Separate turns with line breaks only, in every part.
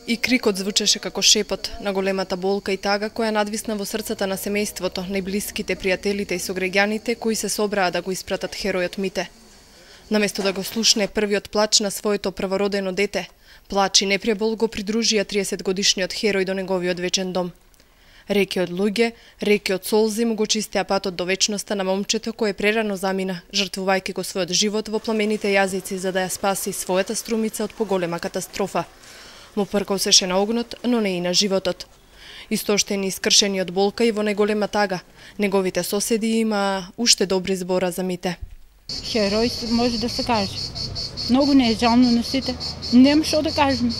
И крикот звучеше како шепот на големата болка и тага која надвисна во срцата на семејството, најблиските, пријателите и сограѓаните кои се собраа да го испратат херојот Мите. Наместо да го слушне првиот плач на своето првородено дете, плач и непребол го придружија 30-годишниот херој до неговиот вечен дом. Реки од луѓе, реки од солзи му го чистеа патот до вечноста на момчето кое прерано замина, жртвувајќи го својот живот во пламените јазици за да ја спаси својата струмица од поголема катастрофа. Му пркосеше на огнот, но не и на животот. Истоштени и скршени од болка и во најголема тага, неговите соседи имаа уште добри збора за Мите.
Херој може да се каже. Многу не е жално на сите. Нема што да кажем.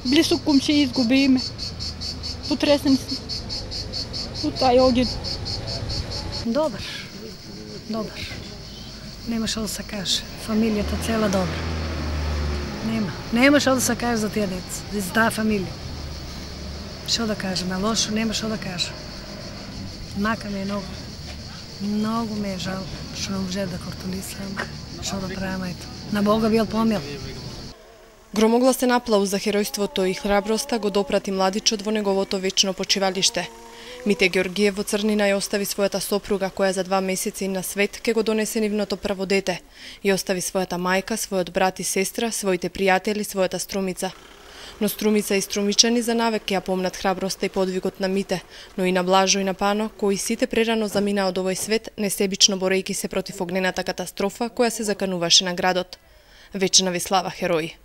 Блисок кумши изгуби име. Потресен сме. Од тај огид.
Добар. Нема што да се каже. Фамилијата цела добра. Нема што да се каже за тие деца, за таа фамилија. Што да кажеме, лошо, нема што да кажем. Мака ме е многу ме е жал, што не може да кортулисам, што да правиме, ето. На Бога бил помил.
Громогласен аплауз за херојството и храброста го допрати младичот во неговото вечно почивалиште. Мите Георгиев во црнина ја остави својата сопруга која за 2 месеци на свет ке го донесе нивното прво дете. Ја остави својата мајка, својот брат и сестра, своите пријатели, својата струмица. Но струмица и струмичани за навек ќе ја помнат храброста и подвигот на Мите, но и на Блажо и на Пано, кои сите прерано заминаа од овој свет, несебично борејќи се против огнената катастрофа која се закануваше на градот. Вечна ви слава, херои!